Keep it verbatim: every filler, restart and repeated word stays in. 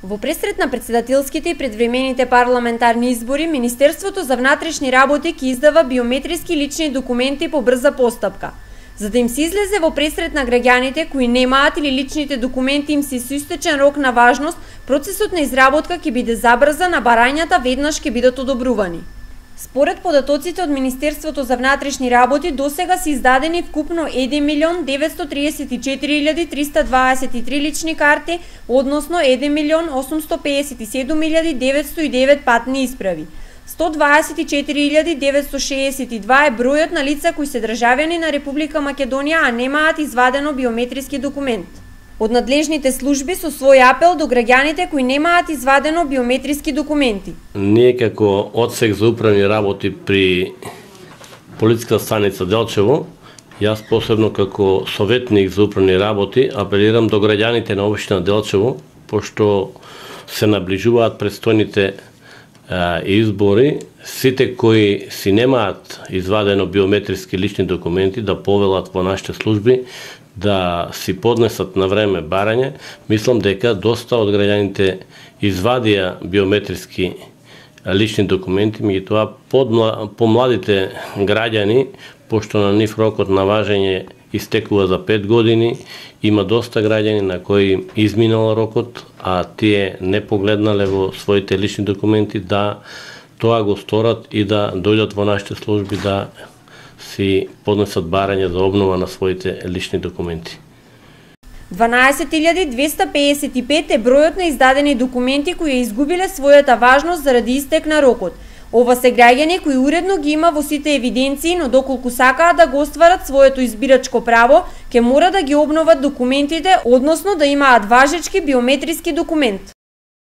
Во пресрет на претседателските и предвремените парламентарни избори, Министерството за внатрешни работи ќе издава биометриски лични документи по брза постапка. За да им се излезе во пресрет на граѓаните кои немаат или личните документи им се со истечен рок на важност, процесот на изработка ќе биде забрзан, а барањата веднаш ќе бидат одобрувани. Според податоците од Министерството за внатрешни работи, досега се издадени вкупно еден милион деветстотини триесет и четири илјади триста дваесет и три лични карти, односно еден милион осумстотини пеесет и седум илјади деветстотини и девет патни исправи. сто дваесет и четири илјади деветстотини шеесет и два е бројот на лица кои се државјани на Република Македонија, а немаат извадено биометриски документ. Од надлежните служби со свој апел до граѓаните кои немаат извадено биометриски документи. Ние како одсек за управни работи при полициска станица Делчево, јас посебно како советник за управни работи апелирам до граѓаните на општина Делчево, пошто се наближуваат престојните а, избори, сите кои си немаат извадено биометриски лични документи да повелат во нашите служби да си поднесат на време барање. Мислам дека доста од граѓаните извадија биометриски лични документи, меѓутоа помладите граѓани, пошто на нив рокот на важење истекува за пет години, има доста граѓани на кои изминал рокот, а тие не погледнале во своите лични документи да тоа го сторат и да дојдат во нашите служби да си поднесат барање за обнова на своите лични документи. дванаесет илјади двеста пеесет и пет е бројот на издадени документи кои ја изгубиле својата важност заради истек на рокот. Ова се граѓани кои уредно ги има во сите евиденции, но доколку сакаат да го остварат своето избирачко право, ќе мора да ги обноват документите, односно да имаат важечки биометриски документ.